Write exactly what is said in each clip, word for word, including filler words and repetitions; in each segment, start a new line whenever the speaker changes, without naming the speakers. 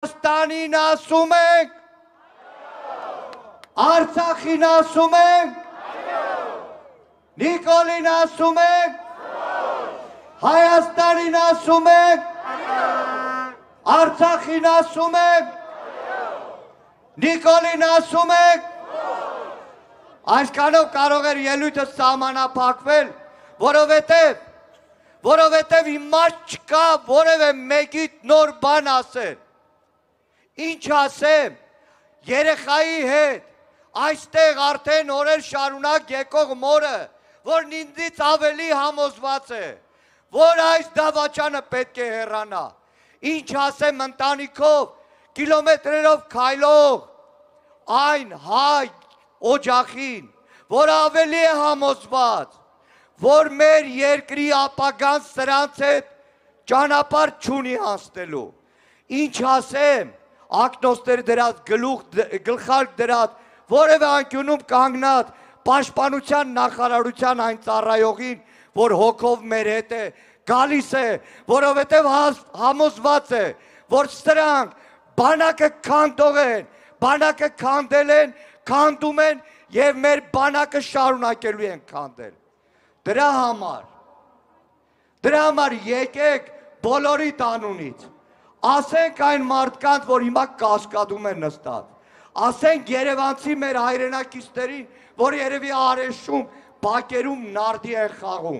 Հայաստանին ասում ենք, Արցախին ասում ենք, Նիկոլին ասում ենք, Հայաստանին ասում ենք, Արցախին ասում ենք, Նիկոլին ասում ենք, այսքանով կարող էր ելույթը սահմանափակվել, որովհետև որովհետև իմաստ չկա որևէ մեկիդ նոր բան ասել։ Ինչ ասեմ, երեխայի հետ, այստեղ արդեն օրեր շարունակ եկող մորը, որն ինձից ավելի համոզված է, որ այս դավաճանը պետք է հեռանա։ Ինչ ասեմ ընտանիքով, կիլոմետրերով քայլող այն հայ օջախին, որ ավելի է համոզված, որ մեր երկրի ապագան սրանց հետ ճանապարհ չունի անցնելու։ Ինչ ասեմ, ակնոստեր դրած, գլխարկ դրած, որևէ անկյունում կանգնած պաշտպանության նախարարության այն ծառայողին, որ հոգով մեր հետ է, գալիս է, որովհետև համոզված է, որ սրանք բանակը քանդող են, բանակը քանդել են, քանդում են և մեր բանակը շարունակելու են քանդել։ Դրա համար, դրա համար եկեք բոլորի տանունից, ասենք այն մարդկանց, որ հիմա կասկադում են նստած, ասենք երևանցի մեր հայրենակիցներին, որ երևի Արեշում, Բակերում նարդի են խաղում,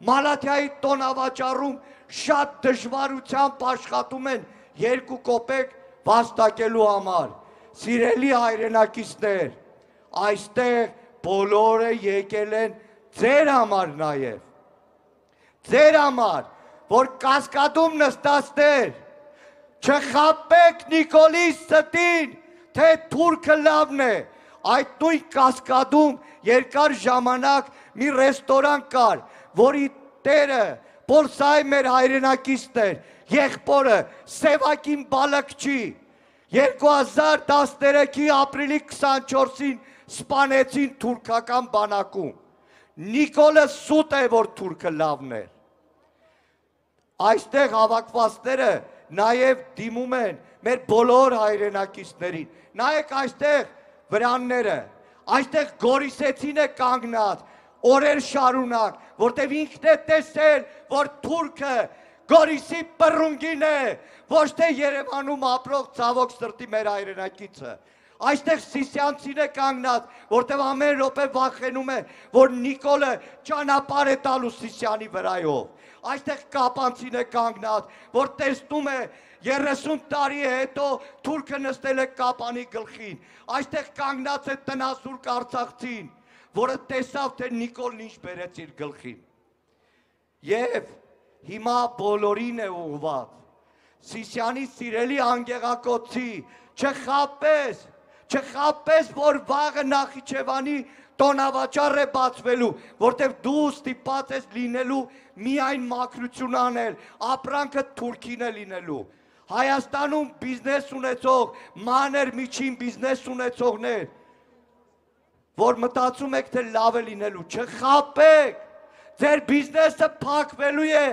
Մալաթիայի տոնավաճառում շատ դժվարությամբ աշխատում են երկու կոպեկ վաստակելու համար։ Սիրելի հայրենակիցներ, այստեղ բոլորը եկել են ձեր համար նաև, ձեր համար, որ կասկադում նստածներ, չխաբեք Նիկոլի ստին, թե թուրքը լավն է, այդ նույն կասկադում երկար ժամանակ մի ռեստորան կար, որի տերը, Պոլսայի մեր հայրենակիցներ, եղբորը Սևակին Բալակչի, երկու հազար տասներեքի ապրիլի քսանչորսին սպանեցին թուրքական բանակում։ Նիկոլը սուտ է, որ թուրքը լավն է։ Այստեղ հավաքվածները նաև դիմում են մեր բոլոր հայրենակիցներին։ Նայեք այստեղ վրանները, այստեղ Գորիսեցին է կանգնած, օրեր շարունակ, որտև ինքն է տեսել, որ թուրքը Գորիսի պռունգին է, ոչ թե Երևանում ապրող ցավոք սրտի մեր հայրենակիցը։ Այստեղ Սիսյանցին է կանգնած, որտև ամեն րոպե վախենում է, որ Նիկոլը ճանապարհ է տալու Սիսյանի վրայով։ Այստեղ Կապանցին է կանգնած, որ տեսնում է երեսուն տարի հետո թուրքը նստել է Կապանի գլխին։ Այստեղ կանգնած է տնասուրկ արցախցին, որը տեսավ, թե Նիկոլն ինչ բերեց իր գլխին։ Եվ հիմա բոլորին է ուղղված։ Սիսյանի սիրելի անգեղակոծի, չխաբես, չխաբես, որ վաղը Նախիջևանի տոնավաճառ է բացվելու, որտև դու ստիպված ես լինելու միայն մաքրություն անել, ապրանքը Թուրքին է լինելու։ Հայաստանում բիզնես ունեցող, մանր միջին բիզնես ունեցողներ, որ մտածում եք, թե լավ է լինելու, չխաբեք, ձեր բիզնեսը փակվելու է,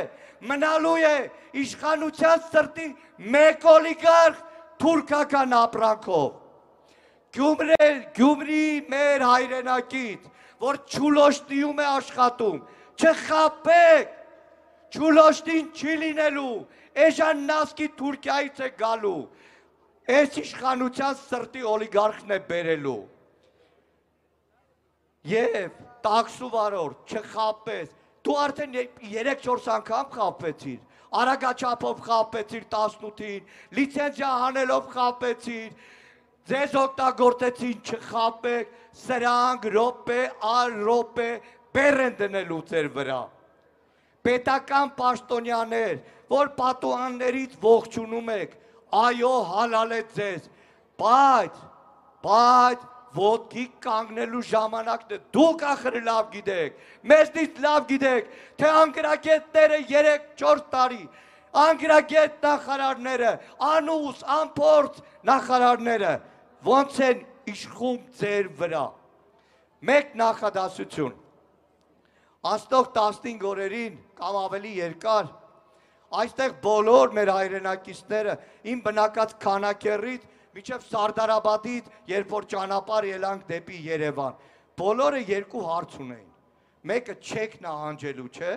մնալու է իշխանության սրտի մեկ օլիգարխ թուրքական ապրանքով։ Գյումրի մեր հայրենակից, որ Չուլոշտիում է աշխատում, չխաբեք, Չուլոշտին չի լինելու, էժան նասկի Թուրքիայից է գալու, այս իշխանության սրտի օլիգարխն է բերելու։ Եվ տաքսու վարորդ, չխաբես, դու արդեն երեք-չորս անգամ խաբվեցիր, արագաչափով խաբվեցիր տասնութին, լիցենզիա հանելով խաբվեցիր, ձեզ օգտագործեցին, չխաբեք, սրանք րոպե առ րոպե բեռ են դնելու ձեր վրա։ Պետական պաշտոնյաներ, որ պատուհաններից ողջունում եք, այո, հալալ է ձեզ, բայց, բայց ոտքի կանգնելու ժամանակն է, դուք ախր լավ գիտեք, մեզնից լավ գիտեք, թե անգրագետները երեք-չորս տարի, անգրագետ նախարարները, անուս, անփորձ նախարարները, ոնց են իշխում ձեր վրա։ Մեկ նախադասություն, անցնող տասնհինգ օրերին կամ ավելի երկար, այստեղ բոլոր մեր հայրենակիցները իմ բնակած Քանաքեռից մինչև Սարդարաբադից, երբ որ ճանապարհ ելանք դեպի Երևան, բոլորը երկու հարց ունեին։ Մեկը չեք նահանջելու, չէ՞,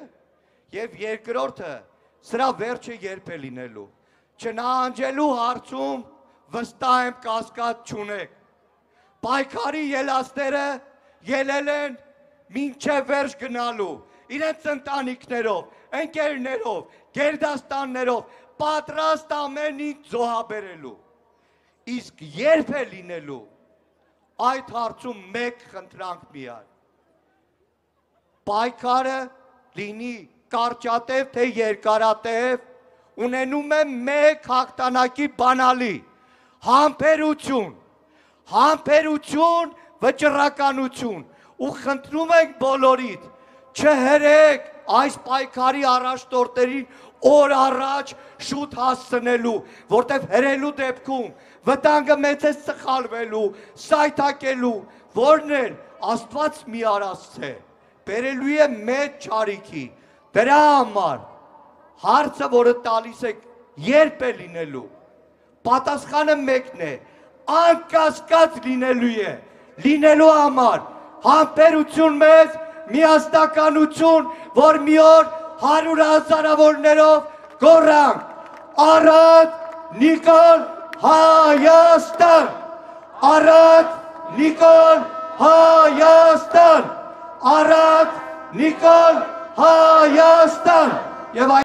եւ երկրորդը սրա վերջը երբ է լինելու։ Չնահանջելու հարցում վստահ եմ կասկած չունեք։ Պայքարի ելածները ելել են մինչև վերջ գնալու, իրենց ընտանիքներով, ընկերներով, գերդաստաններով, պատրաստ ամեն ինչ զոհաբերելու։ Իսկ երբ է լինելու, այդ հարցում մեկ խնդրանք միայն։ Պայքարը լինի կարճատև թե երկարատև, ունենում է մեկ հաղթանակի բանալի, համբերություն, համբերություն, վճռականություն, ու խնդրում ենք բոլորիդ, չհրեք այս պայքարի առաջնորդներին օր առաջ շուտ հասցնելու, որտև հրելու դեպքում վտանգը մեծ է սխալվելու, սայթակելու, որն էլ Աստված մի արածց է, բերելու է մեծ չարիքի, դրա համար հարցը, որը տալիս եք, երբ է լինելու, պատասխանը մեկն է, անկասկած լինելու է, լինելու համար, համբերություն մեզ, միասնականություն, որ մի օր հարյուր հազարավորներով գոռանք, Արադ, Նիկոլ, Հայաստան, Արադ, Նիկոլ, Հայաստան, Արադ, Նիկոլ, Հայաստան, եւ